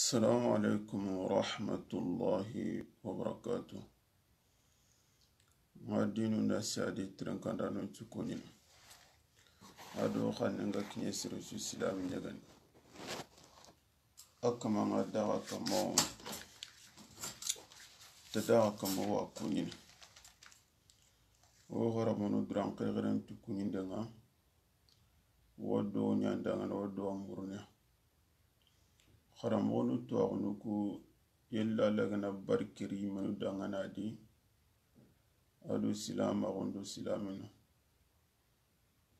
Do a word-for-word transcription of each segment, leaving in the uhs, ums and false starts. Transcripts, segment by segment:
Assalamu alaikum wa rahmatullahi wa barakatuh. Nga dinu na sadi tren kanda no ci ko ɲini. A do xanne nga kiɲe sere su silami ɲagani. A kama nga daga kama, ta daga kama wa ko ɲini. O xaramonu duran xexeren tu kuɲinde nga. Wo do ɲandangana, wo do amurne. Xaranmoxonu tuwaxunu ku yella lagana barkiri menu dangana di, a do silamaxun do silaminu.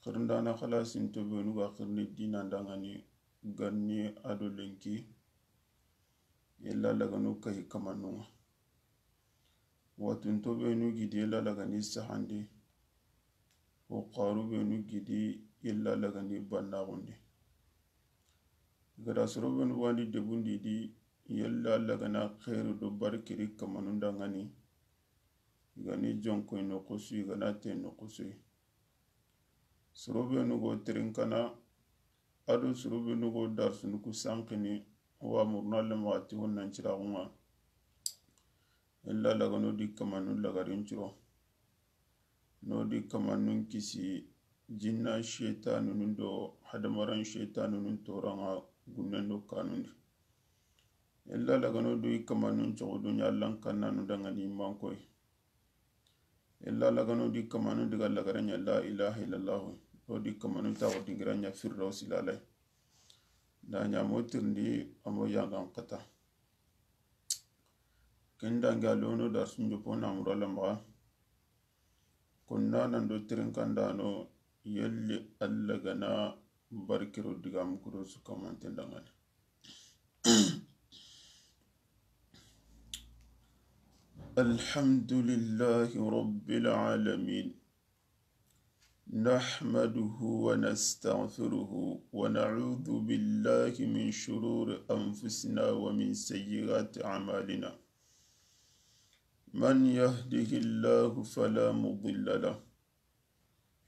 Xirindana xalasinto benu ga xirini dina dangani ganni a do lenki, yella laganu kahi kamanunga. Watunto benu gidi yella lagani sahandi, wo xaru benu gidi yella lagani bannaxundi. Gada soro benu wandi debundi di yella lagana xeeru do barkiri kamanun dangani, i gani jonkoy noxusu, i gana te noxusuy. Soro benu go terinkana, a do soro benu go darsunu ku sankini, wa murna lemaxati honnan ciraxunga. Illa lagano di kamanun lagarin ciro. No di kamanun kisi jinna sheitanunun do hadamaran sheitanunun toranga gunnen do kanundi. Illa lagano do i kamanun cogo dunya allan kannanu dangani mankoy. Illa lagano di kamanu diga lagaran ya la ilaha illallah. O di kamanu taxo dingiran ya firdausi lalay. Da ɲa mo tirindi a mo yangan kata. Ken dangi a lono darsun jopo na mura lamaxa. Konna nan do tirinkandano yelli Alla gana barkiro digamu kudo su kamanten dangani. الحمد لله رب العالمين. نحمده ونستغفره ونعوذ بالله من شرور أنفسنا ومن سيئات أعمالنا. من يهده الله فلا مضل له،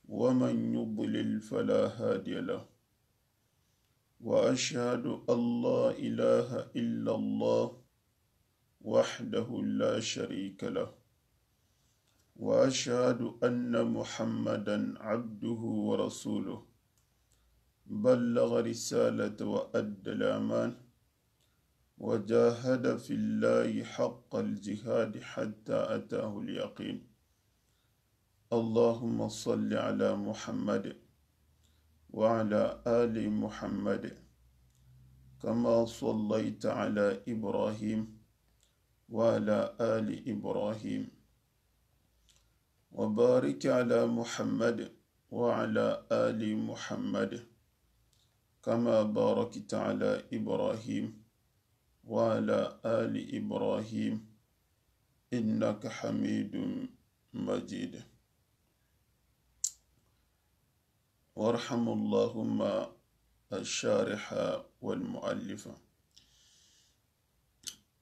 ومن يضلل فلا هادي له. وأشهد أن لا إله إلا الله وحده لا شريك له، وأشهد أن محمدا عبده ورسوله، بلغ رسالة وأدى الأمان، وجاهد في الله حق الجهاد حتى أتاه اليقين. اللهم صل على محمد وعلى آل محمد كما صليت على إبراهيم وعلى آل إبراهيم، وبارك على محمد وعلى آل محمد كما باركت على إبراهيم وعلى آل إبراهيم إنك حميد مجيد. وارحم اللهم الشارح والمؤلف.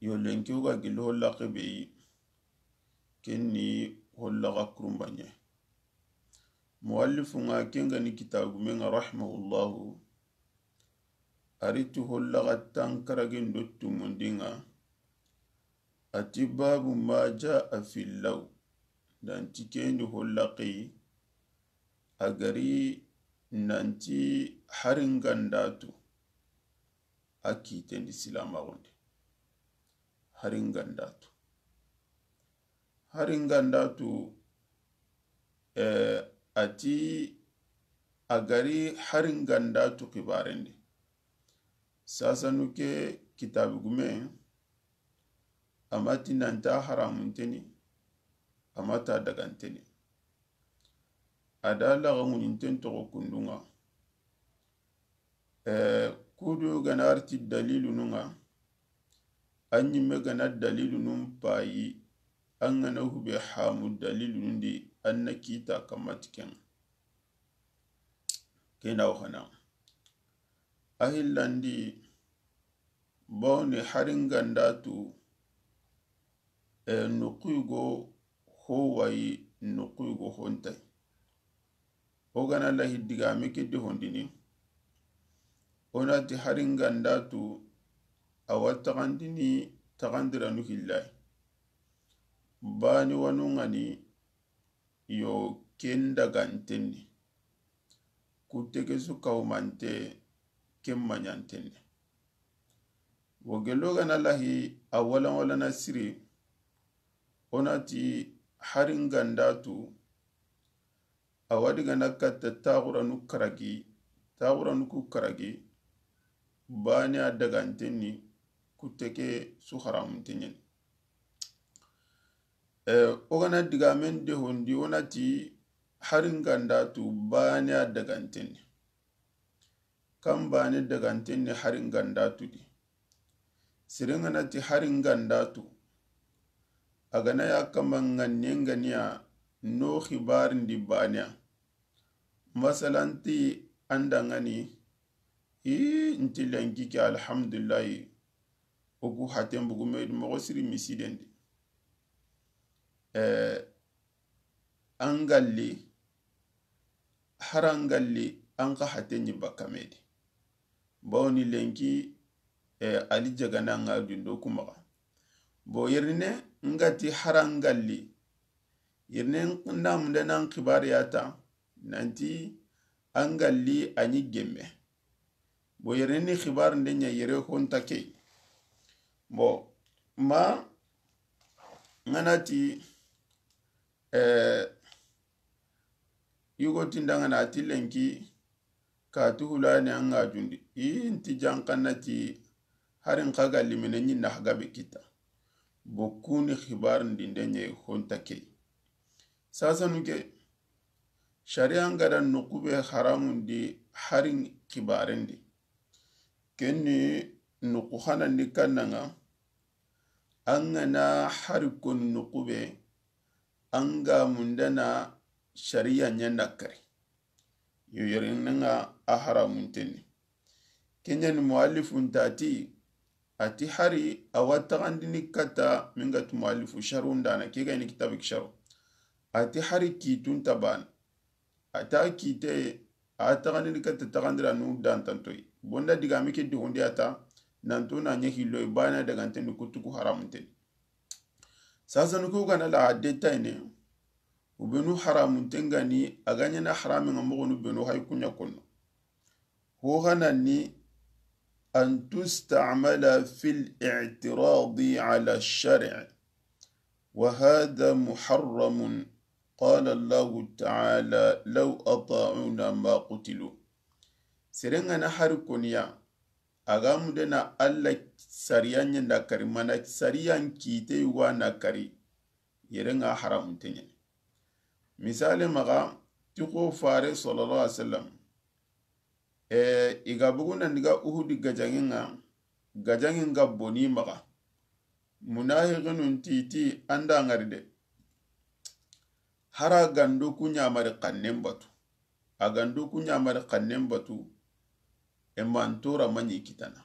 Yo lenki wo ga gilli holla xebe yi, ken ni holla ga kurumbaɲe. Muallifu nga ken ga ni kitabu men ga rahimahullahu, a ri ti holla ga tankaragen do tumundi nga, a ti babu ma jaa fi law, nanti ken di holla xeyi, a ga ri nanti hari nga nda tu a kitendi silamaxundi. Hari nga nda tu. Hari nga nda tu, eh, a ti a ga ri hari nga nda tu xibarendi. Sasanu ke kitabi gume, a ma ti nanta haramunteni, a ma ta daganteni. A da laxa ŋuɲinten toxo kundunga. Eh, kudu gana arti dalilununga, an ɲimme gana dalilunun payi, an gana hube hamu dalilunun di, an na kita kamati ken. Kena waxana. A hillandi, bawni hari nga nda tu, eh, nuxuy go ho wayi, nuxuy go ho ntayi. O gana lahi digame ke di hondini, o na ti hari nga nda tu, a wa taxandini taxandiranu hillayi. Baane wanu ŋa ni yo ken dagantenni. Kutte ke su kawumante ken maɲantenni. Wo gello ga na lahi a walan walana siri, o na ti hari n ga nda tu, a wa di ga na katta taxuranu karagi, taxuranu ku karagi, baane a dagantenni, kutte ke su haramunte ɲeni. Eh, o ga na digamen de hondi, o na ti hari n ga nda tu, baane a dagantenni. Kan baane dagantenni hari n ga nda tu di. Seren ga na ti hari n ga nda tu, a ga na ya kama ŋa nen ga ni ya no xibarin di baane ya. Masalan ti an da ŋa ni, i nti lenki ke, alhamdulillahi, o ku haten bugu me di moxo siri misiden di. Eh, an galli, hari an galli, an xa haten ɲi bakka me di. Bawo ni lenki, eh, ali jagana ŋa dundo ku maxa. Bo yerine n ga ti hari an galli, yerine n da munde nan xibari ya ta, nanti an galli a ɲi gemme. Bo yere ni xibaru nde ɲa yere honta ke. Bo ma ŋa na ti, eh, yugo ti n da ŋa na ti lenki ka tu hula ni an ŋa jundi. I nti jankanna ti hari n xa galli mene ɲi na haga be kita. Bo ku ni xibaru ndi nde ɲa honta ke. Sasanu ke, sariya n ga da noqu be haramundi hari n xibaren di. Ken ni noqu hanandi kanna ŋa, an ga na hari koni noqu be, an ga mundana sariya ɲa na kari. Yo yere ŋa a haramuntenni. Ken ɲa ni muallifu nta ti, a ti hari a wa taxandini katta, min ga ti muallifu sharhu ndana, ke ga ni kitabu ki sharhu. A ti hari kiitun ta baana. A ta kiite, a taxandini katta taxandiranu dantantoyi. Bo n da digame ke di hondi a ta, nanto na ɲa hilloyi, baane dagantenni, kutu ku haramuntenni. Sasanu ku ga na la a détail ne, u benu haramunten ga ni, a ga ɲa na harami ŋa moxonu benu hay ku ɲa konno. Ho hanani أن تستعمل في الاعتراض على الشرع، وهذا محرم، قال الله تعالى: لو أطاعونا ما قتلوا. Seren ga na hari koni ya, a ga mundana Alla sariya ɲa na kari, mana sariyan kiite yugo na kari, yere ŋa haramunte ɲa ni. Misale maxa, ti xo fare sallallahu alaihi wasallam, eh, i ga bugu nan diga Uhudi gajaŋen ŋa, gajaŋen ga boni maxa. Munahiqinun ti ti an da ŋari de. Hari a ga ndu ku ɲamari xannen batu. A ga ndu ku ɲamari xannen batu. E mantora maɲi kitana.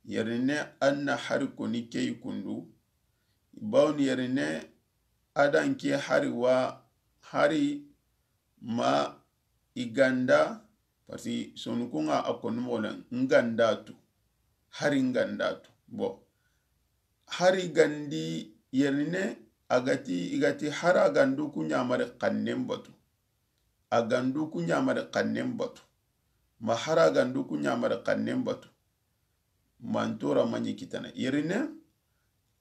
Yerine an na hari koni ke yi kundu. Bawni yerine a da n ke hari wa hari ma i ga nda, parce que sonukun ŋa a koni moxo na n ga nda tu, hari n ga nda tu. Bon, hari ga ndi yerine a ga ti, i ga ti hari a ga ndu ku ɲamari xannen batu. A ga ndu ku ɲamari xannen batu. Ma hari a ga ndu ku ɲamari xannen batu. Mantora maɲi kitana. Yerine,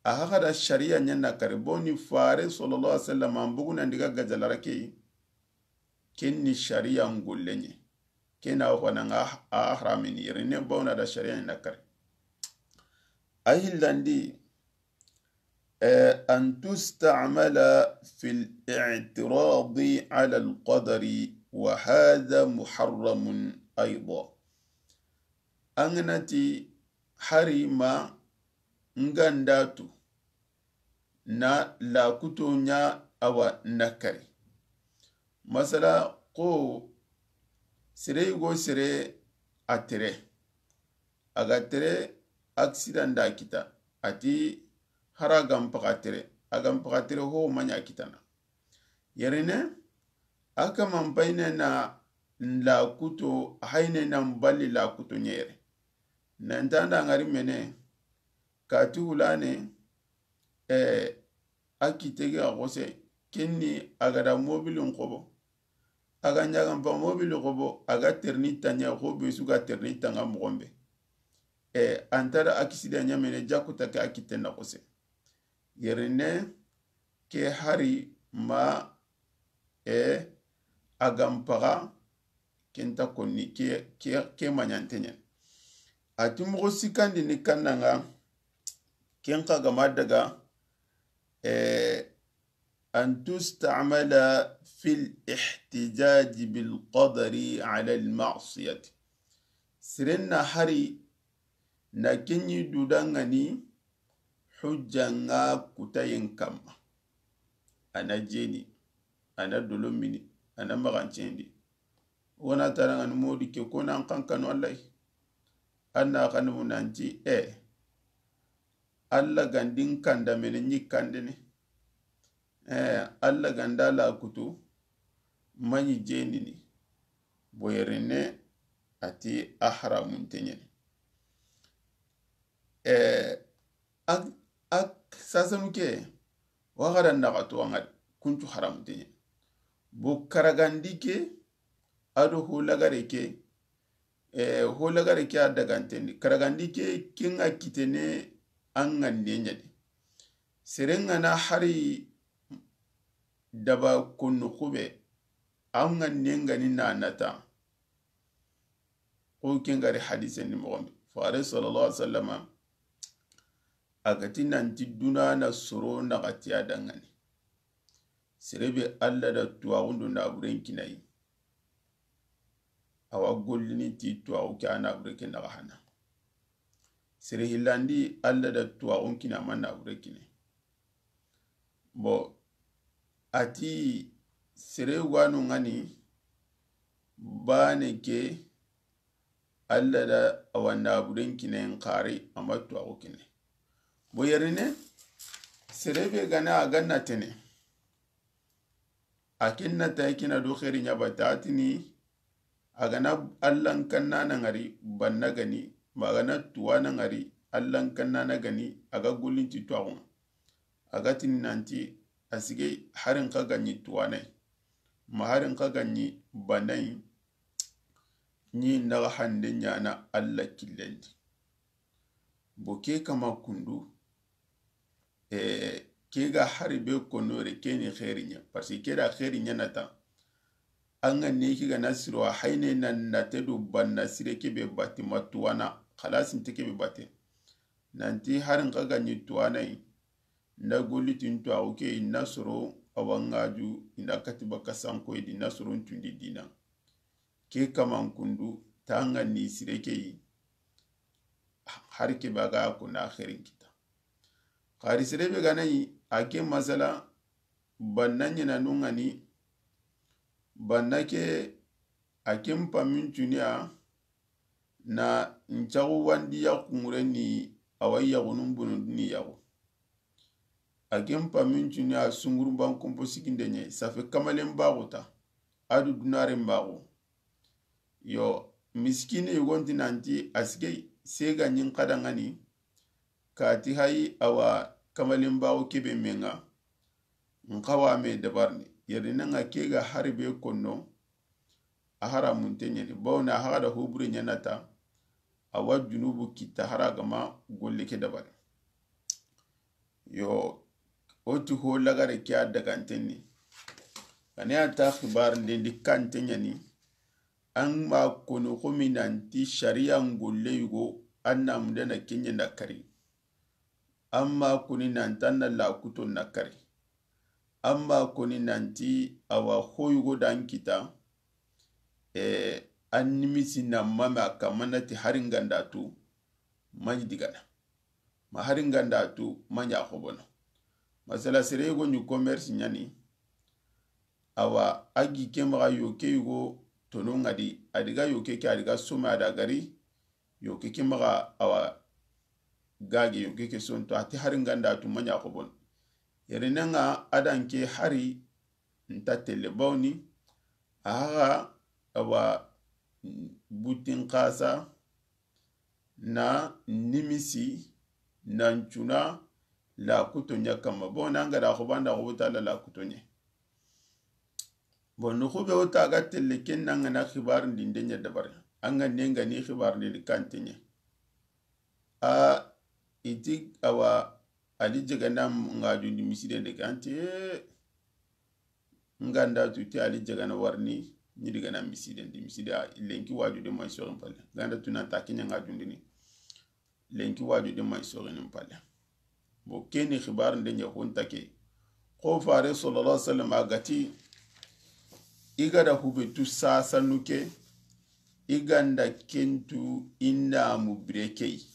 a haxa da sariya ɲa na kari. Bawni fare sallallahu alaihi wasallam, an bugu nan diga gajalara ke yi. Ken ni sariya n golle ɲa. Ken na xo na ŋa a haramini yerine, bawna da sariya ɲa na kari. A hillandi, eh, أن تستعمل في الاعتراض على القدر، وهذا محرم أيضا. An ga na ti hari ma n ga nda tu na lakuto ɲa awa na kari. Masala xo sere yugo sere a tere. A ga tere accident da kita. A ti hari a ga n paxa tere. A ga n paxa tere ho maɲa kitana. Yerine, a kaman payine na lakuto, hayine na mbali lakuto ɲa yere. Nanta nda ŋari mene, kati hulane, eh, a kite ga xose, kenni a ga da mobilin xobo. A ga ɲagan pa mobili xobo, a ga terni tanya xo be su ga terni tanga moxon be. Eh, an ta da accident ɲamene jakuta ke a kite na xose. Yerine ke hari ma, eh, a ga n paga, ken ta konni ke, ke, ke maɲante ɲa. A ti moxo sikandi ni kannanga, ken xa ga ma daga, eh, أن تستعمل في الاحتجاج بالقدر على المعصية. Seren na hari na ken ɲi dudangani hujjanga kutayen kamma. A na jeni, a na dolomini, a na maxancendi. Wona tarangani modi ke ko nan kankano Allahi. An na xanu nanti, eh, Alla gandin kanda mene ɲi kandene. Eh, Alla ganda la kutu, maɲi jenini. Boyerine a ti a haramunte ɲani. Eh, ak, ak sasanu ke, wa xara naxa to anga kuncu haramunte ɲani. Bo karagandi ke, ado ho lagare ke, eh, ho lagare ke a dagantendi. Karagandi ke, kenga kitene an ŋanne ɲadi. Serenga na hari daba konno xube, an ŋanne ngani na nata. Ko kengari hadise ni moxon be. Fare sallallahu alaihi wasallama, a ga ti nanti duna na soro naxati a dangani. Sere be Alla da tuwaxun do naburen kinayi. Awa gollini ti tuwaxu ke a nabure ke naxa hana. Sere hillandi Alla da tuwaxun kina ma nabure kine. Bon, a ti sere wano ngani bane ke Alla da awa naburen kine nkari ama tuwaxu kine. Bo yerine, sere be gana a ganna tene. A ken na ta kina do xeri ɲa bata a tini, a gana Allan kanna na ngari banna gani, ma a gana tuwana ngari Allan kanna na gani, a ga gollinti tuwaxun. A ga tini nanti, a sige harin xa ganyi tuwanai. Ma harin xa ganyi banai, ni naxa hande ɲana Alla killendi. Bo ke kama kundu, eh, ke ga hari be konno re ke ni xeri ɲa. Parce que ke da xeri ɲa nata. An ga ne ke ga na siro a hayne na nate do banna sire ke be bate ma tuwana. Xalasi nte ke be bate. Nanti harin xa ganyi tuwanai. Na golli tin tuwaxu ke i na soro a wangaju i na kati baka sanko i di na soro ntundi dina. Ke kaman kundu tanga ni sire ke yi. Hari ke baga ko na xerin kita. Xari sere be gana yi a ke masala banna ɲana nungani banna ke a ke mpamin tuniya na ncaxu wandi yaxu ŋure ni awa yaxunun bunundini yaxu. A ken pamin cuni a sunguru ban kompo sikinde ɲe safe kamalen baxu ta a du dunaren baxu. Yo, miskine yogonti nanti a sigey sega ɲin xadangani kati hayi awa kamalen baxu kebe menga. Nxawa me dabarni yerinanga kega hari be konno. A haramunte ɲani bawna a haxa da hobure ɲanata. A wa junubu kitta hara gama golle ke dabari. Yo, o ti ho lagare ke a dagantenni. Ane a ta xibar ndendi kante ɲani. An ma koni xomi nanti shariya ngolle yugo an na mundana kenya na kari. Amma koni nanti an na lakuto na kari. Amma koni nanti awa hoyugo dan kita. E, an nimisi na mame a kamana ti hari nganda tu maɲi digana. Ma hari nganda tu maɲa xobono. Masala sere yugo ni commerce ɲani. Awa a gi ke maxa yoke yugo tono ŋa di a diga yoke ke a diga some a da gari. Yoke ke maxa awa gage yoke ke sonto a ti hari nganda tu maɲa xobon. Yerinanga a dan ke hari nta telle bawni a haxa awa butin xasa na nimisi Nan cuna lakuto ɲa kamma. Bon, an ga da xo banda xo buta la lakuto ɲa. Bon, nuxu be o ta ga telle ken na an ga na xibarin di nde ɲa dabari. An ga ne nga ni xibarin di kante ɲa. A iti awa Ali jagana ngajundi misiden de kante. Nga nda tu ti Ali jagana warni ni digana misiden di misida lenki waju de mai sorin palle. Nga nda tu na ta kinya ngajundini. Lenki waju de mai sorin palle. Bo keni xibar nde ɲa honta ke. Xo fare sallallahu alaihi wasallam a ga ti, i ga da hube tu sasanu ke, i ga nda kentu i namu bire ke yi.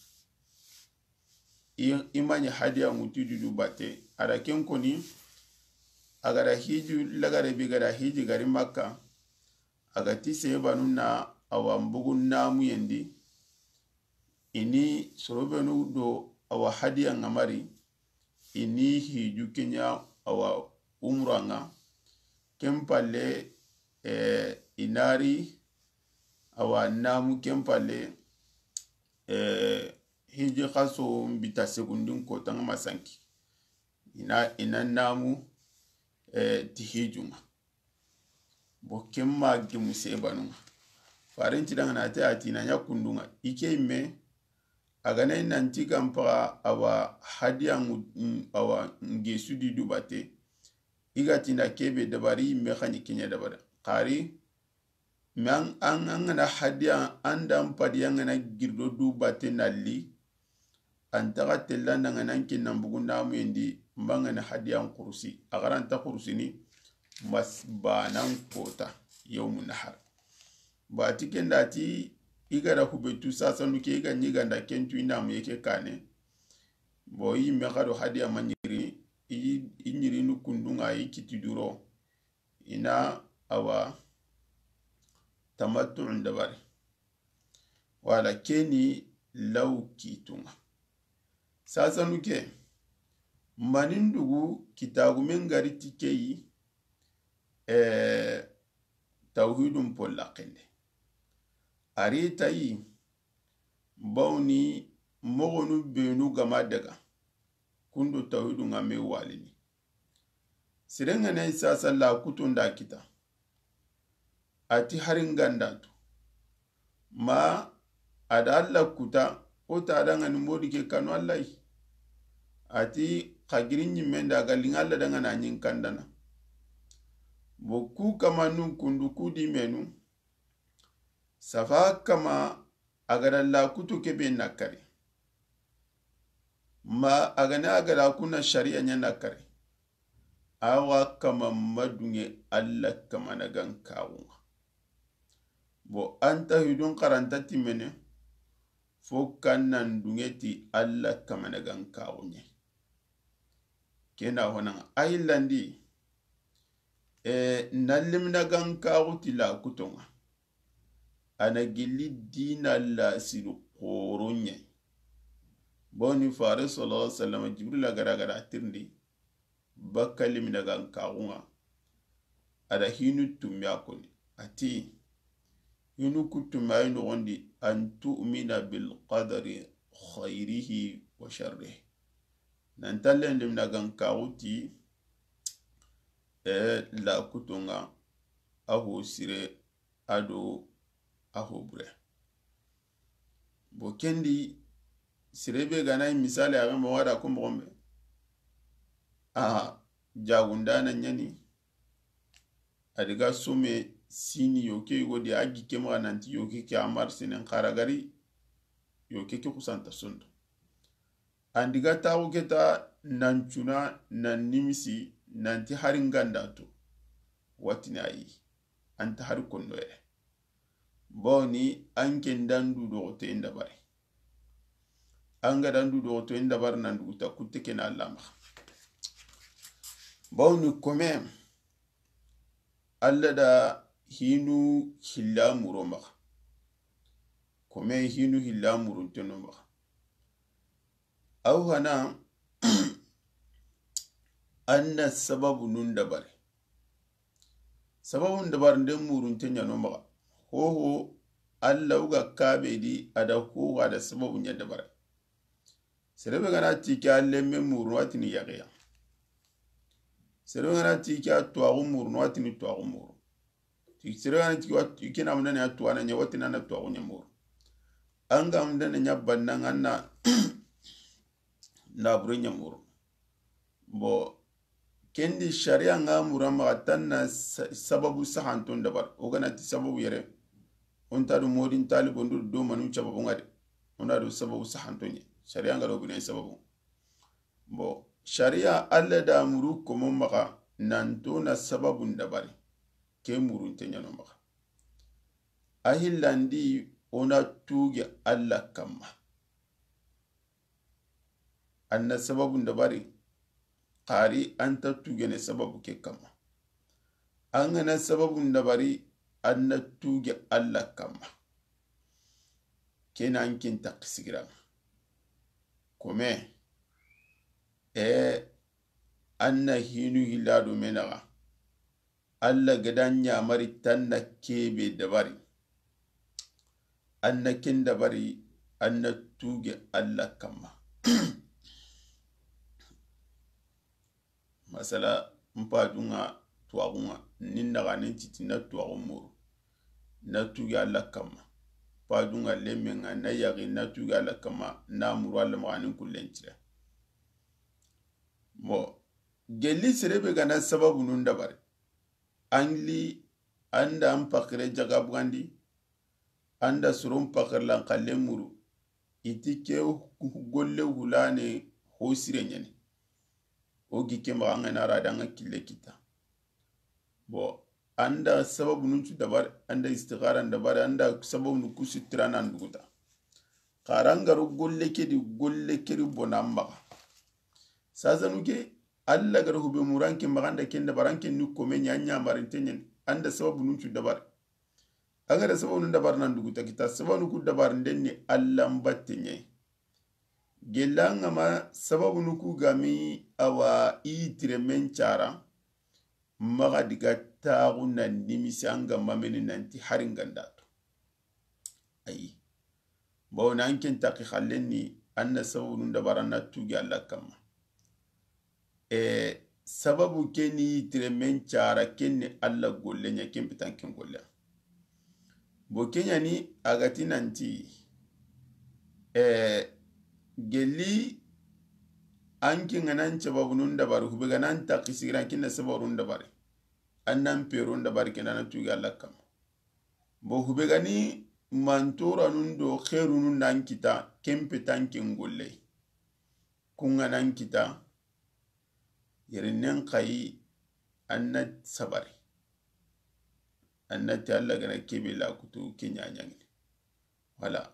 I, i ma ɲi hadiya ŋutu dudu bate. A da ken koni, a ga da hiju lagare bi ga da hiji gari Makka. A ga ti sebanu na awa mbugu namu yendi. I ni sorobenu do awa hadiya ŋa mari. I ni hiju kenya awa umra ŋa. Ken palle, eh, i nari awa namu ken palle, eh, hiji xaso mbita segundin ko tanga masanki. I na, i na namu, eh, ti hijunga. Bo ken ma gimu sebanunga. Farin ti dangana te a ti na ɲa kundunga. I ke me, a ga na i nanti kan paga awa hadiya ŋu-, awa ngesu di dubate. I ga ti na kebe dabari me xani kenya dabari. Xari, me an, an, an ga na hadiya, an da an padiya an ga na girdo dubate nalli. An taga tella nda an ga na an kinna mbugu namu yendi, mba an ga na hadiya an kurusi. A ga ra an ta kurusini, mas banan kota, yawmu nahar. Ba ti ken da ti, i ga da hube tu sasanu ke, i ga ɲi ga nda kentu i namu ye ke kane. Bo i me xado hadiya ma ɲiri, i, i ɲiri nu kundunga i kiti duro. I na awa tamattu'un dabari. Wala keni law kitunga. Sasanu ke, manin dugu kitagumen gari ti ke yi, eh, tawhidun polla kende. A ri ta yi, bawni moxonu benu gama daga, kundo tawhidun ŋa me walini. Sirengene sasa la kuto nda kita. A ti hari nga nda tu. Ma a da Alla kuta, o ta dangani modi ke kanu Alla yi. A ti xa giri ɲimme nda ga linga Alla dangana ɲin kandana. Bo ku kama nun kundu ku di menu. Safa kama a ga da la kutu kebe na kari. Ma a ga na a ga da kuna sharia ɲa na kari. Awa kama ma dunge Alla kama na gan kawunga. Bo an ta hidun karanta timene fo kan nan dunge ti Alla kama na gan kawunye. Kena honanga a yillandi, e, na limina gan kaxu ti la kutonga. A na gilli dina la sidu xoro ɲa yi. Bawni fare sallallahu alaihi wasallam Jibril a gara gara tirindi bakka limina gan kaxunga. A da hinu tummi a koni. A ti, hinu ku tummi a yi noxondi, an tu'mina bil qadari khayrihi wa sharrihi. Nan tallen limina gan kaxu ti, e, la kutonga, a ho sire, a do a ho bure. Bo kendi, sire be gana misali a ga ma wada ko moxo be. A jagundana ɲani, a diga some sini yoke yogodi a gi ke maxa nanti yoke ke a mari senen xara gari, yoke ke xusanta sondo. An diga taxu ke ta nan cuna nan nimisi nanti hari nga nda to. Watini a yi. An ta hari kondo yere. Bawni an ke nda ndu doxotoyen dabari. An ga da ndu doxotoyen dabari nan duguta kutte ke na Alla maxa. Bawni kome Alla da hinu hilla muro maxa. Kome hinu hilla murunte no maxa. Aw hana an na sababu nun dabari. Sababu nun dabari nde murunte ɲa no maxa. Hoho Alla wuga kabe di a da hoho a da sababu ɲa dabari. Sere be ga na ti ke a lemme muru, a ti ni yaqiya. Sere be ga na ti ke a tuwaxu muru, a ti ni tuwaxu muru. Ti sere be ga na ti ke a tuwaana ɲa, a ti ni a na tuwaxu ɲa muru. An ga mundana ɲa banna, an na nabure ɲa muru. Bon, ken di sariya ŋa mura maxa tan na sa-, sababu sahanton dabari. O ga na ti sababu yere, o nta do modin talibo ndu do manu sababu ŋa de. O na do sababu sahanto ɲa. Sariya ŋa do bine sababu. Bon, sariya Alla da muru komo maxa, nanto na sababu dabari. Ke murunte ɲa no maxa. A hillandi o na tuge Alla kamma. An na sababu dabari, xari an ta tugene sababu ke kamma. An ga na sababu dabari, an na tuge Alla kamma. Ke na an ken ta kisigira. Kome, e, an na hinu hilla do me naxa. Alla ga da ɲamari tan na kebe dabari. An na ken dabari, an na tuge Alla kamma. Masala, n pajun ŋa tuwaxu ŋa, ni naxanen citi na tuwaxu muru, na tuge Alla kamma. Pajun ŋa lemmen ŋa na yaxi, na tuge Alla kamma, na muru Alla maxa ni kullen cire. Bon, gelli sere be ga na sababunun dabari. An li, an da an pakire jaga bugandi, an da soron pakirlan xalle muru, i ti ke golle hulane ho sire ɲani. O gi ke maxa an ga na ra da an ga kille kita. Bon, an da sababunun cu dabari, an da istixaran dabari, an da sababunu ku sitira nan duguta. Xara an ga ro golle ke di, golle ke ri bonan maxa. Sasanu ke, Alla ga da hube muran ke maxa, an da ken dabari, an ken ni kome ɲa, ɲamarinte ɲani, an da sababunun cu dabari. An ga da sababunun dabari nan duguta kita, sababunu ku dabarinden ni Alla n batte ɲa yi. Gella an ga ma sababunu ku ga mi awa i tire men cara, maxa diga taxu na nimisi an ga mameni nanti hari n ga nda tu. Ayi. Bawo na an ken taxi xallen ni, an na sababunun dabari, an na tuge Alla kamma. E, sababu ke ni tire men cara, ken ni Alla golle ɲa, ken pitan ken golle. Bo ke ɲani a ga ti nanti, e, gelli an ke ga na an sababunun dabari, hube ga na an taxi sigira, an ken na sababunun dabari. An na an perun dabari, ken na an tuge Alla kamma. Bo hube ga ni mantoranun do xerunun nan kita, ken pitan ken golle. Kun ga na an kita, yerinnen xayi, an na sabari. An na ti Alla ga na kebe la kutu ke ɲa ɲangini. Voilà.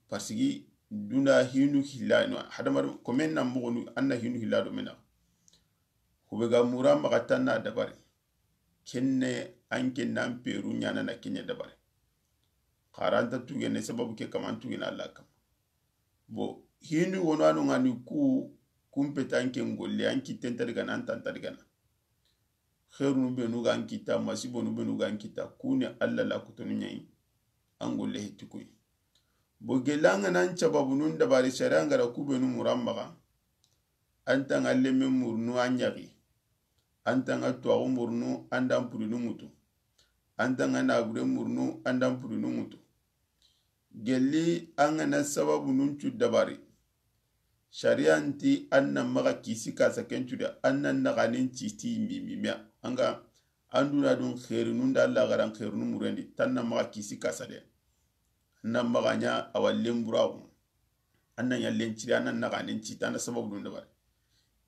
Parce que duna hinu hilla no, hadamar komen na moxonu, an na hinu hilla do me naxa. Hube ga mura maxa tan na dabari. Kenne an ken na an peru ɲana na ke ɲa dabari. Xara an ta tugene sababu ke kamma, an tugene Alla kamma. Bo, hinu wono anu ŋa ni ku, kun pitan ken golle, an kitten ta digana, an tan ta digana. Xerunu benu ga an kita, masibonu benu ga an kita, ku ni Alla la kutonu ɲa yi, an golle heti ku yi. Bo gella an ga na an sababunun dabari, sariya n ga da ku benu muran maxa, an ta ŋa lemme murunu an yaxi, an ta ŋa tuwaxu murunu an da an purinu ŋutu, an ta ŋa nabure murunu an da an purinu ŋutu. Gelli an ga na sababunun cu dabari. Sariya nti an na maxa kisi kasa ken cu de, an na naxanen citi mimimiya. An ga an duna dun xerinun da Alla ga da an xerinu murendi, tan na maxa kisi kasa de. An na maxa ɲa awa lenburaxu. An na ɲa lenciri, an na naxanen citi, an na sababunun dabari.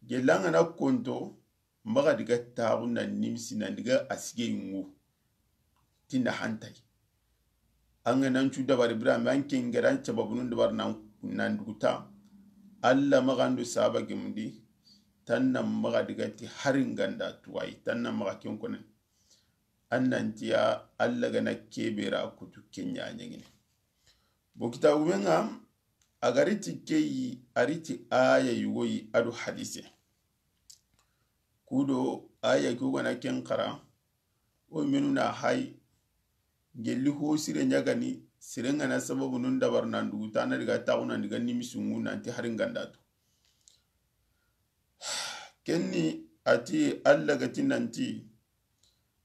Gelli an ga na konto, maxa diga taxu na nimisi, na diga a sige yungu. Ti na hantay. An ga na an cu dabari bira, mais an ke n ga da an sababunun dabari nan, nan duguta. Alla maxa an do saba gemundi, tan na maxa diga ti hari n ga nda tuwayi, tan na maxa ken konen. An nan tiya Alla ga na kebe ra kutu ke ɲa ɲangini. Bo kitabu men ŋa, a ga ri ti ke yi, a ri ti aya yugo yi, a do hadise. Kudo aya ke wo ga na ken xara, o menu na hay, gelli ho sire ɲa ga ni, sire n ga na sababunun dabari nan duguta, na diga taxu nan diga nimisi ŋu nanti hari n ga nda tu. Ken ni a ti Alla ga ti nanti,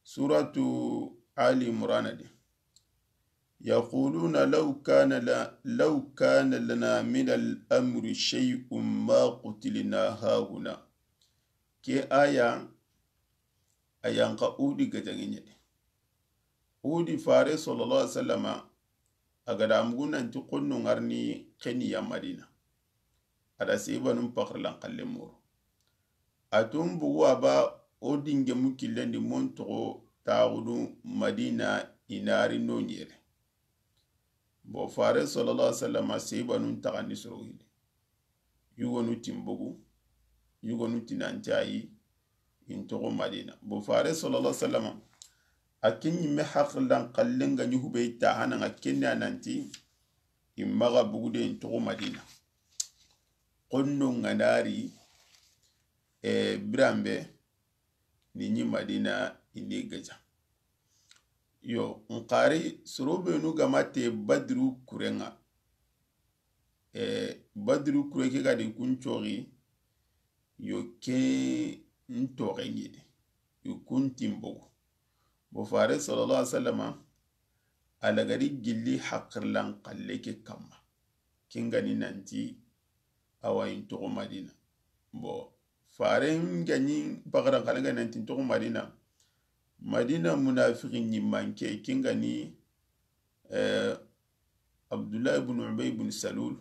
Suratu Ali Imran di. Yaquluna law kana la-, law kana lana min al-amri shay'un ma qutilna hahuna. Ke aya, a yan xa Uhudi gajaŋe ɲa di. Uhudi fare sallallahu alaihi wasallama, a ga da mugu nanti xonno ŋa ri ni xeni ya Madina. A da sebanun paxarlan xalle muru. A tun bugu a ba o dinge mu killen di mon toxo taxudu Madina i na ri no ɲere. Bo fare sallallahu alaihi wasallama sebanun taxandi soro hili. Yugonu ti n bogu, yugonu ti nanti ayi, i n toxo Madina. Bo fare sallallahu alaihi wasallama, a ken ɲi me haqilan xallen ga ɲi hube i ta hana ŋa ken ni a nanti, i maxa bugu de i n toxo Madina. Xonno ŋa na ri, e, biranbe, ni ɲi Madina, i ni gaja. Yo, n xari, soro benu ga ma te Badru kuren ŋa. E, Badru kure ke ga di kun coxi, yo ke n toxe ɲi di, i kun ti n bogu. Bo fare sallallahu alaihi wasallama, a lagari gilli haqilan xalle ke kamma. Ken ga ni nanti, awa i n toxo Madina. Bo faren ga ɲi paxaran xalle ga nanti n toxo Madina. Madina munafiqi ɲi manke, ken ga ni, eh, Abdullah ibn Ubay ibn Salul,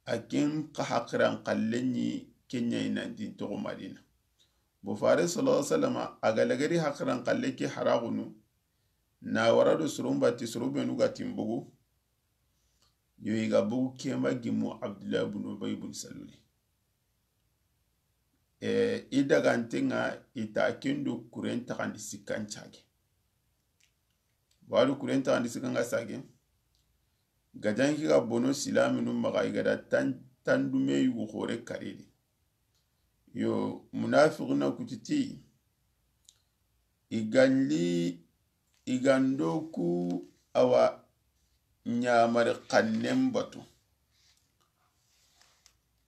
a ken xa haqiran xalle ɲi ken ɲa i nanti n toxo Madina. Bo fare sallallahu alaihi wasallama, a ga lagari haqiran xalle ke haraxunu, na wara do soron bati soro benu ga ti n bogu, yo i ga bogu ke ma gimu Abdullah ibn Ubay ibn Saluli. E, i daganten ŋa i ta ken do kuren taxandi sikkan cage. Wadu kuren taxandi sikkan ga sage. Gajan ki ga bono silaminu maxa i ga da tan, tandume yugu xore karidi. Yo, munafiquna kutiti. I galli, i gando ku awa ɲamari xannen batu.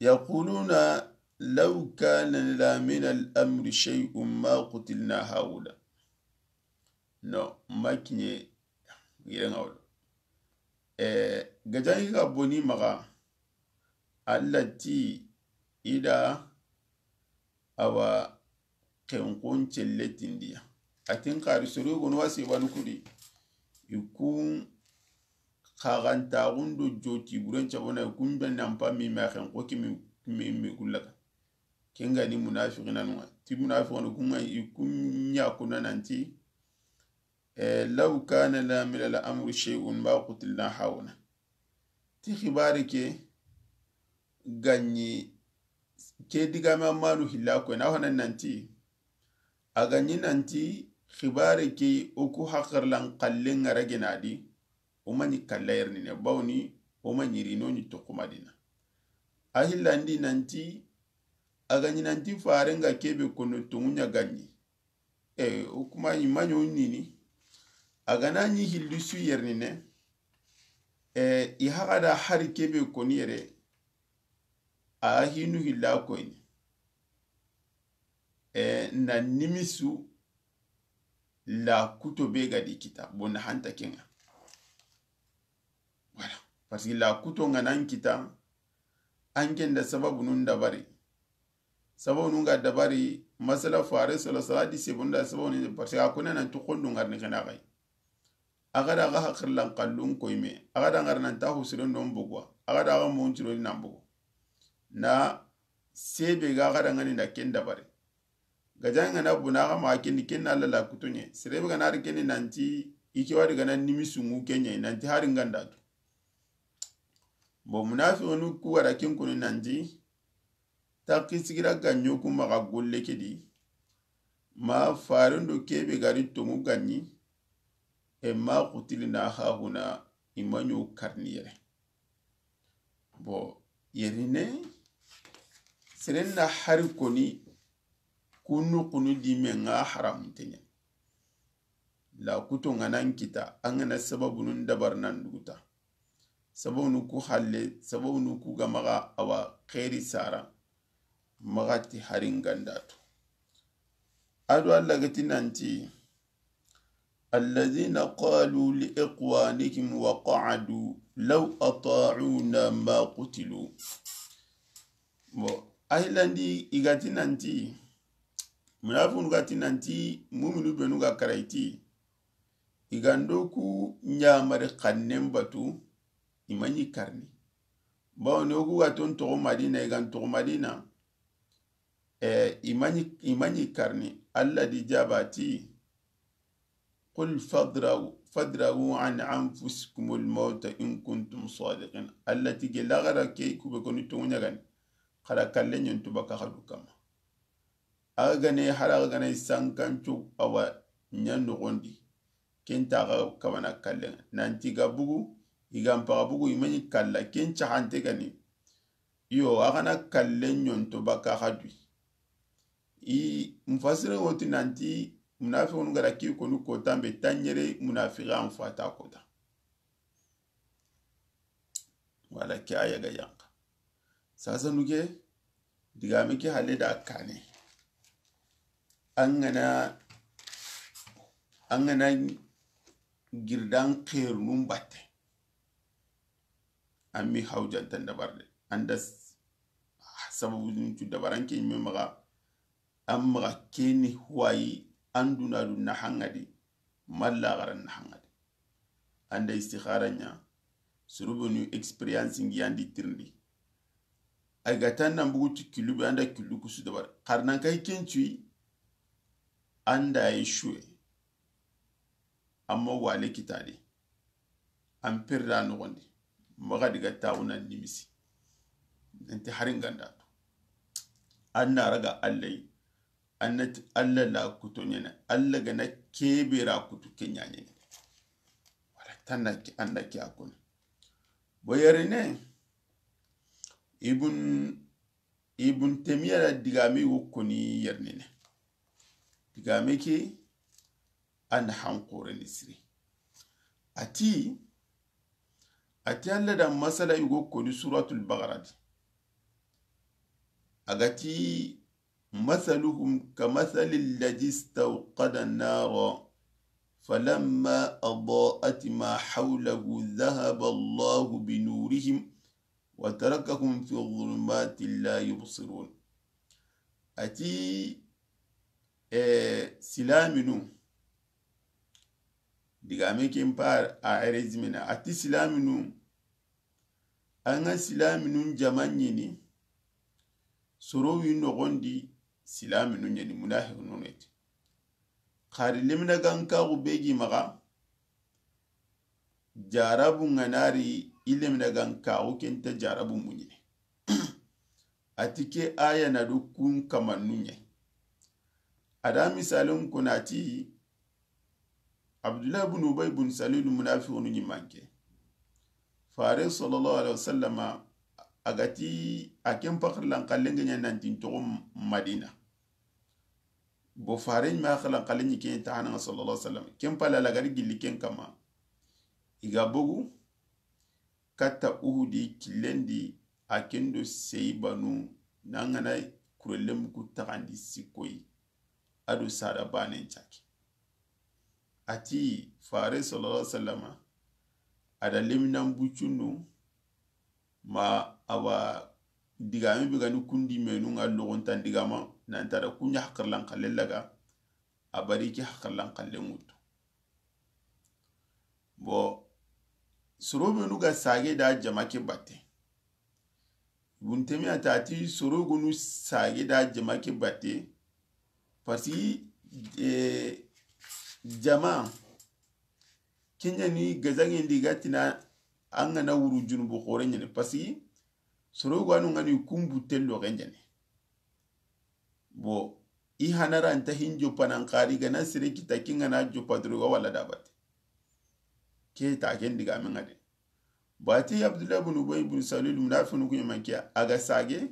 Yaquluna law kana lana min al-amri shay'un ma qutilna hahuna. No, ma kiɲe yire ŋa wala. Eh, gajan ki ga boni maxa, Alla ti i da awa xenxon celle tindiya. A ti n xari soro gono wa sebanu kudi. I kun xaxantaxun do joti buren cabona i kun be nan pa mi ma xenxo ki mi, mi, mi kullaka. Ken ga ni munafiqinanu ŋa. Ti munafiqinu kun ŋa i kun ɲa kuna nanti, eh, law kana lana min al-amri shay'un ma qutilna hahuna. Ti xibari ke ga ɲi ke digame manu hilla ko na hona nanti, a ga ɲi nanti xibari ke o ku haqilan xalle ŋa ra gena di, o ma ɲi kalla yerni ne bawni, o ma ɲi ri no ɲi toxo Madina. A hillandi nanti, a ga ɲi nanti faren ga kebe kono tonŋu ɲa ga ɲi. E, o kuma i ma ɲo ɲini. A ga na ɲi hilli su yerni ne. E, i haxa da hari kebe koni yere. A hinu hilla koyni. E, na nimisu la kuto be ga di kita. Bona hanta ken ŋa. Voilà. Parce que la kuto ŋa nan kita, an ken da sababunun dabari. Sababunun ga dabari, masala fare sala sala di sebunda sababunun, parce que a kuna nan tuxundu ŋa ri ni xena xay. A ga da ga haqilan xallun koyme, a ga da ŋa ri nan ta husiren don bogwa, a ga da ga monciro nan bogo. Na sebe ga ga da ŋa ni na ken dabari. Gajan ŋa na buna xa ma ken ni ken na la la kuto ɲe. Sere be ga na ri ken ni nanti i ke wadi ga na nimisu ŋu ken ɲa nanti hari ŋa nda tu. Bo munafiqinu ku wara ken kuni nanti, taki sigira ga ɲo ku maxa golle ke di, ma faren do kebe ga ri tonŋu ga ɲi, e ma qutilna hahuna, i ma ɲo karni yere. Bo, yerine, seren na hari koni, kunu kunu di me ŋa haramun te ɲa. La kuto ŋa nan kita, an ga na sababunun dabar nan duguta. Sababunu ku halle, sababunu ku ga maxa awa xeri sara. Maxa ti hari n ga nda tu. A do Alla ga ti nanti, الذين قالوا لإخوانهم وقعدوا لو أطاعونا ما قتلوا. Bon, a hilandi i ga ti nanti, munafiqunu ga ti nanti, muminu benu ga kara i ti, i ga ndo ku ɲamari xannen batu, i ma ɲi karni. Bawo ni o ku ga ton toxo Madina, i ga n toxo Madina, eh, i ma ɲi, i ma ɲi karni. Alla di jaba ti, قل فادرءوا، فادرءوا عن أنفسكم الموت إن كنتم صادقين. Alla ti gella xa ra ke ku be koni tonŋu ɲa gani, xa ra kalle ɲontu baka xa du kamma. A ga ne, hara ga ne sankancu a wa ɲa noxondi. Ken ta xa kabana kallen ŋa. Nanti ga bugu, i ga n paxa bugu, i ma ɲi kalla, ken caxante gani. Iyo, a xa na kalle ɲonto baka xa dui. I mufassirin wo ti nanti, munafiqunu ga ra ke koni kota be, tanɲere munafiqi an fata kota. Wala ke aya ga yanqa. Sasa nuke, digame ke halle da kane. An ga na, an ga na girdan xeerunun batte. An mi hawjantan dabar de. An da s-, sababu dun cu dabaran ke ɲi me maxa, an maxa keni huwayi, an duna dun na hangadi, malla xaran na hangadi. An da istikhara ɲa, surubenu experience ngi an di tirindi. Ay ga tan nan bugu ti killu be, an da killu kusu dabar. Xarnan kay ken cuyi, an da yi shuwe. Amma wale kitadi. An perda noxondi. Maxa diga taxu nan nimisi. Nanti hari n ga nda tu. An na raga Alla yi. An na ti Alla la kuto ɲene. Alla ga na kebe ra kutu ke ɲa ɲene. Wala tanna ki, an na ki a koni. Bo yerine, Ibn, Ibn Taymiya da digame wo koni yerine. Digame ke, an hanqore ni siri. A ti, a ti Alla da masala yugo koni Suratul Baqara di. A ga ti, مثلهم كمثل الذي استوقد نارا فلما أضاءت ما حوله ذهب الله بنورهم وتركهم في ظلمات لا يبصرون. A ti, eh, silaminu, digame ken pa a résumé na, a ti silaminu, an ga silaminun jama ɲini, soro wi noxondi silaminu ɲani, munafiqunu ne ti. Xari lemina gankaxu be gi maxa, jarabu ŋa na ri, i lemina gankaxu ken ta jarabu muɲini. A ti ke aya na do kun kamannu ɲa. A da misalin kuna ti, Abdullah ibn Ubay ibn Salul munafiqunu ɲi manke. Fare sallallahu alaihi wasallama, a ga ti a ken paxarlan xallen ŋa ɲa nanti n toxo Madina. Bo fare ɲi ma xalan xallen ɲi ken ta hana sallallahu alaihi wasallam. Ken pala la gari gilli ken kama. I ga bogu, katta Uhudi killen di, a ken do sey banu, na ŋa na kurellenmu ku taxandi sikkoyi, a do sada banen caki. A ti fare sallallahu alaihi wasallama, a da leminan buccunnu, ma a wa digame be ga ni kundi menu ŋa loxontan digama, nanta da kuɲa hakarlan xallen laga, a bari ke hakarlan xallen ŋuttu. Bon, soro benu ga sage da jama ke batte. Ibn Taymiya ta ti soro gonu sage da jama ke batte. Parce que, eh, jama, ken ɲa ni gazangen di ga tina an ga na wuru junubu xore ɲene. Parce que soro gonu ŋa ni kumbu tello ke ɲene. Bon, i hanara nta hin joppa nan xari ga na sere kita ken ga na joppa doro ga wala da batte. Ke ta ken digame ŋa de. Bati Abdullah ibn Ubay ibn Salul munafiqunu ku ɲi manke a ga sage.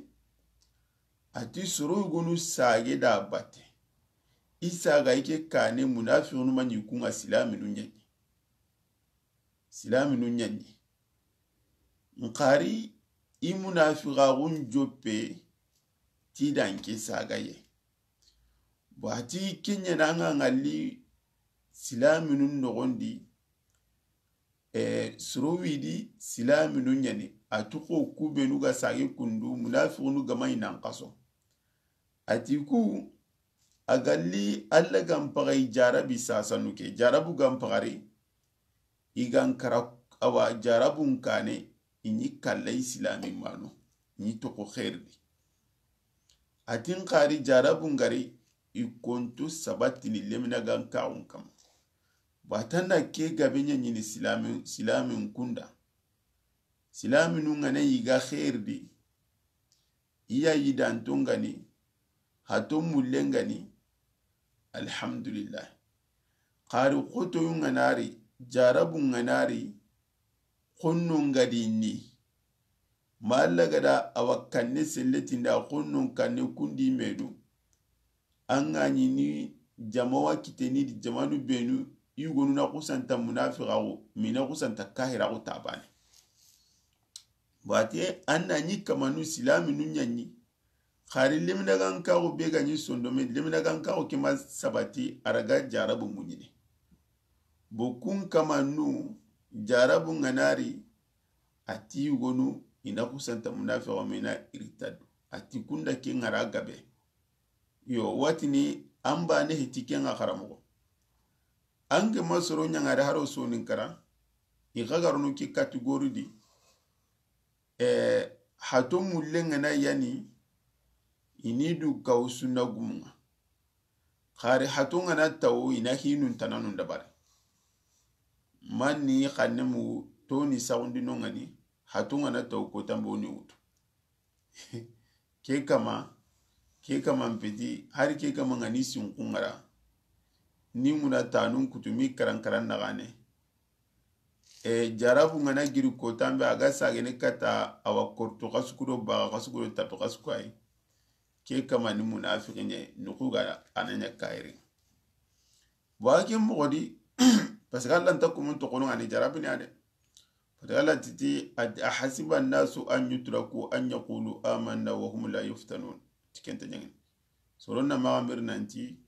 A ti soro gonu sage da batte. I saga i ke kane munafiqunu ma ɲi ku ŋa silaminu ɲani. Silaminu ɲani. N xari i munafiqaxun joppe ti dan ke sagaye. Bon, a ti ke ɲa na ŋa ŋalli silaminun noxondi, e, soro widi silaminu ɲani, a ti xo ku benu ga sage kundu, munafixunu ga ma i nan xaso. A ti ku, a galli Alla ga n paxari jarabi sasanu ke, jarabu ga n paxari, i ga n kara, awa, jarabun kane, i ɲi kalla i silami mano, i ɲi toxo xeeri di. A ti n xari jarabun gari, i konto sabatini lemina ga n kaxun kama. Batana ke gabe ɲa ɲini silami, silamin kunda. Silaminu ŋa na i ga xeeri di, i ya yidanto ŋa ni, hato mulle ŋa ni, alhamdulillah. Xari xotoyu ŋa na ri, jarabu ŋa na ri, xonno ŋa di ni. Ma Alla ga da awa kanne selletinda xonno kanne kundi medu. An ga ɲi ni jamawa kiteni di jamanu benu, i yugonu na xusanta munafixaxu, mina xusanta kahiraxu tabane. Bate, an na ɲi kamanu silaminu ɲaɲi. Xari lemina ga n kaxu be ga ɲi sondome, lemina ga n kaxu ke ma sabati, a ra ga jarabu muɲini. Bo kun kamanu, jarabu ŋa na ri, a ti yugonu, i na xusanta munafixaxu, mina irtadu. A ti kunda ke ŋa ra gabe. Yo, watini an bane heti ke ŋa xaramoxo. An ke ma soro ɲaŋari haro sonin kara, i xa ga rono ke catégorie di. E, hato mulle ŋa na yani, i ni du kaw sunna gumu ŋa. Xari hato ŋa na tawo, i na hinun tananun dabari. Manni xanne mu toni saxundi no ŋa ni, hato ŋa na tawo ko tambo ni wutu. Ke kama, ke kama mpeti, hari ke kama ŋa ni sinxu ŋa ra. Ni ŋuna tanun kutu mi karan karan na gane. E, jarabu ŋa na giri kotambe a ga sagene kata awa korto xasukudo baga xasukudo tapi xasuku ayi. Ke kama ni munafixi ɲe, nuxu ga a na ɲa kayiri. Bon, a ke moxo di, parce que Alla nta kumun toxono ani jarabini a de. Parce que Alla ti ti, a ti, "Ahasiba annasu an yutraku an yaqulu amanna wa hum la yuftanun." Ti ken nta ɲaŋini. Soro na maxa miri nanti,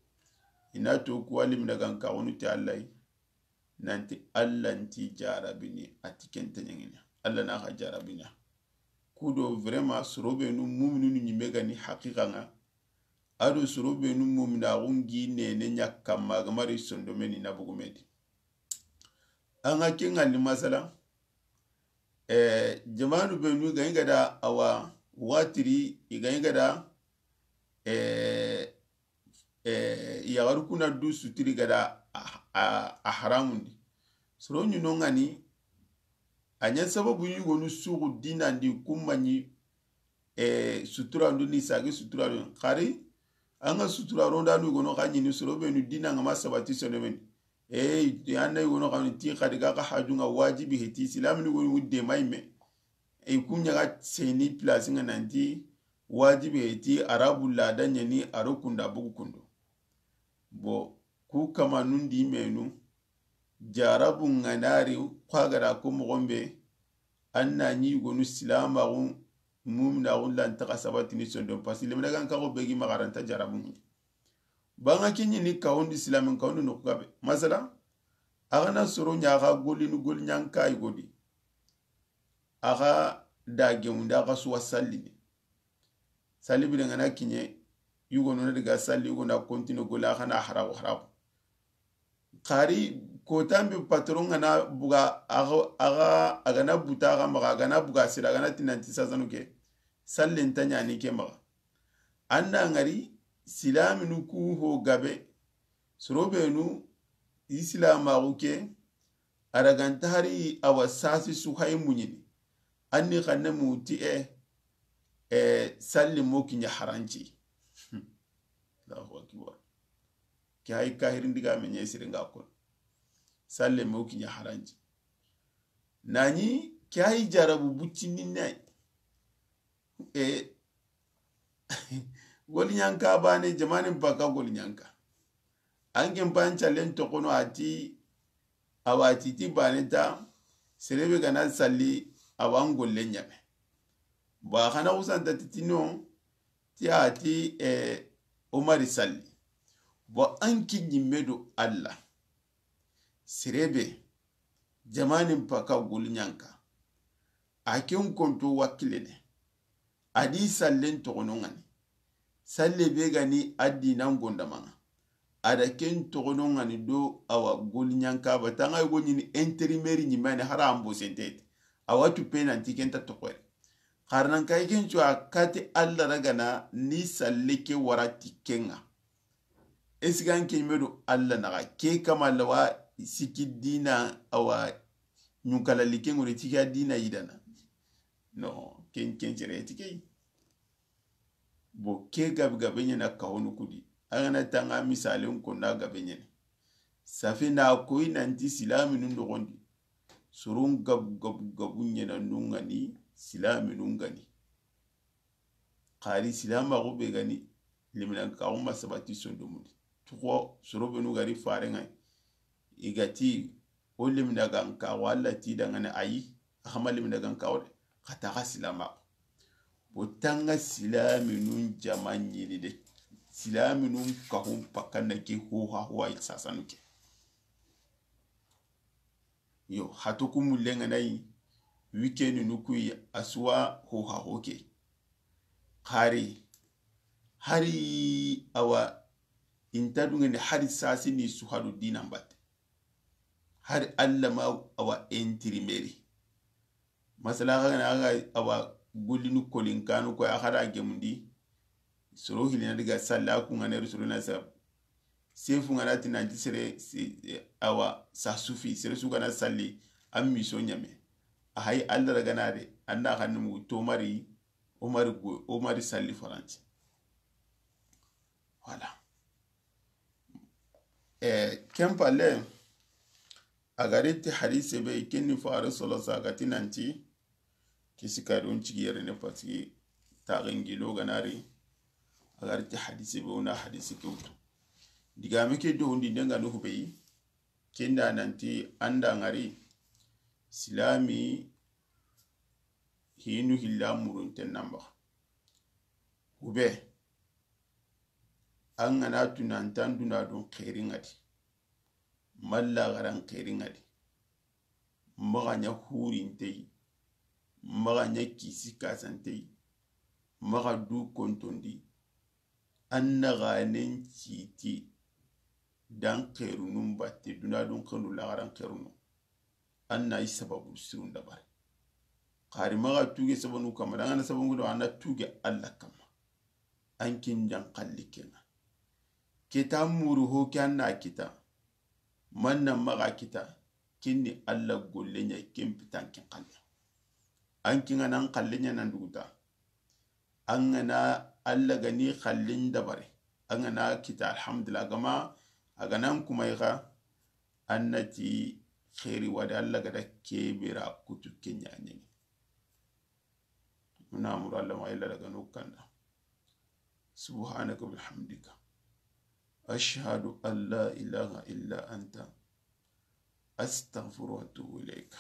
i na to ku wa limina ga n kaxunu ti Alla yi, nanti Alla nti jarabini, a ti ken nta ɲaŋini. Alla na xa jarabini. Kudo vraiment soro benu muminunu ɲime ga ni haqiqa ŋa. A do soro benu muminaxun gi nene ɲa kamma ga mari sondomeni na bugumedi. An ga ke ŋa ni masala, eh, jamanu benu ga i ga da awa watiri, i ga i ga da, eh, eh, yaxaru kuna du sutiri ga da a, a, a haramundi. Soro ɲi no ŋa ni, a ɲa sababu yugonu suxu dinandi kumma ɲi, eh, sutura ndo ni sage sutura ndo. Xari, an ga sutura ndo anu gono xa ɲini soro benu dina ŋa ma sabati sonomeni. Eh, an na gono xa ni ti xadi ga xa haju ŋa wajibi heti, silamini goni wudde mayme. E ku ɲa ga seni place ŋa nanti wajibi heti, arabu lada ɲani aro kunda bugu kundo. Bo, ku kamanundi menu, jarabu ŋa na ri, xa ga da ko moxo be, an na ɲi yugonu silamaxu, muminaxu lanta xa sabatini sondon, parce que lemina ga n kaxu be gi maxa ra nta jarabu ŋa. Banga ke ɲi ni kawundi silamin kawundi noxu gabe. Masala, a ga na soro ɲa xa golini goli ɲanka yugodi. A xa da gemundi, a xa suwa sallini. Salli bire ŋa na kiɲe, yugo no na daga salli, yugo na continue golle, a xa na harago harago. Xari kotambe patron ŋa na buga, a xa, a xa, a ga na buta a xa maxa, a ga na buga sira, a ga na tinanti sasanu ke, salli nta ɲani ke maxa. An da ŋari, silaminu ku ho gabe, soro benu, islamaxu ke, a ra ga nta hari awa sasi su hay muɲini. An ni xanne mu ti e, e, salli mo kiɲa haranci. Allahu akbar. Ke hay kahirin diga me ɲe siri ŋa kon. Salli mo kiɲa haranci. Nani ke hay jarabu buccini nay. E, goli ɲanka bane, jamanin baka goli ɲanka. An ken ban callen toxono a ti, awa ti ti bane ta, serebe ga na salli, awa n golle ɲame. Ba xa na xusanta ti ti no, Ti a ti, eh, Omari salli. Bon, an ke ɲimme do Alla. Sere be, jamanin paka goliɲanka. A ken konto wakilene. A di sallen toxono ŋa ni. Salle be ga ni a dinan gondamaŋa. A da ken toxono ŋa ni do awa goliɲanka ba. Tanga yogo ɲini intérimaire ɲimme ni hara ambo sentete. Awa tu pe nanti ken ta toxoyre. Xarnan kay ken cu a kati Alla ragana ni salle ke wara ti ken ŋa. Esigan ke ɲimme do Alla naxa ke kama lawa siki dina awa ɲunkala like ŋure ti ke a dina yidana. No, ken, ken cere ti ke. Bo ke gabe gabe ɲana kawonu kudi. A gana tanga misalen konna gabe ɲene. Safe na koyi nanti silaminun noxondi. Soron gabu, gabu, gabu ɲana nungani, silaminun gani. Xari silamaxu be gani, liminaxu ma sabati sondomundi. Tuxo, soro benu gari farenŋa. I ga ti, o liminaxu an kaxu Alla ti dangane ayi, a xama liminaxu an kaxu de, xa taxa silamaxu. Bo tanga silaminun jama ɲini de. Silaminun kaxun pakanna ke hoha hoha sasanu ke. Yo, hatoku mullenŋa nayi, weekend nukuyi, a suwa hoha hoke. Xari, hari awa, inta dungene hari sasi ni suhadu dinan batte. Hari Alla ma awa intérimaire. Masala, xa gana, xa ga awa gollini kolinkanu ko, a xa da gemundi. Soro hilina diga salla ku ŋa ne rusuru na sa. Sefu ŋa na ti nanti sere, se-, awa, sa sufi, sere su gana salli, an miso ɲame. A hay Alla ragana de, anda xanni mu tomari, Omari go, Omari salli faranti. Voilà. Eh, ken palle, a gari ti hadise be, ken ni Faare solo sa ga ti nanti, kisi ka don cigi yere ne, parce que taxe ngilo ganari, a gari ti hadise be, o na hadise ke wutu. Digame ke do hundi ndenga no hube yi, kenda nanti anda ngari, silami hinu hilla murunten namba. Hube, an gana tunantan duna don xerin ŋa di, malla garan xerin ŋa di, maxa ɲa hurintey, maxa ɲa kisi kasantey, maxa du kontondi, an na ganen citi dan xerunun batte, duna don xerunu, lagaran xerunu. An na i sababu sirun dabari. Xari maxa tuge sabanu kama, dangana sababu do, an na tuge Alla kama. An kin jan xalli kenŋa. Kita muru ho ke an na kita. Manna maxa kita. Kinni Alla golle ɲa ken pitan ken xalle. An kinŋa nan xalle ɲa nan duguta. An gana Alla gani xallin dabari. An gana kita alhamdulillah gama a gana an kuma ixa. An na ti xeri wadi Alla gada kebera kutu kenya ɲangi. Muna muru Alla ma illa daga no kanda. Subhanaka bihamdika. Ashhadu an la ilaha illa anta. Astaghfiruka wa atubu ilayka.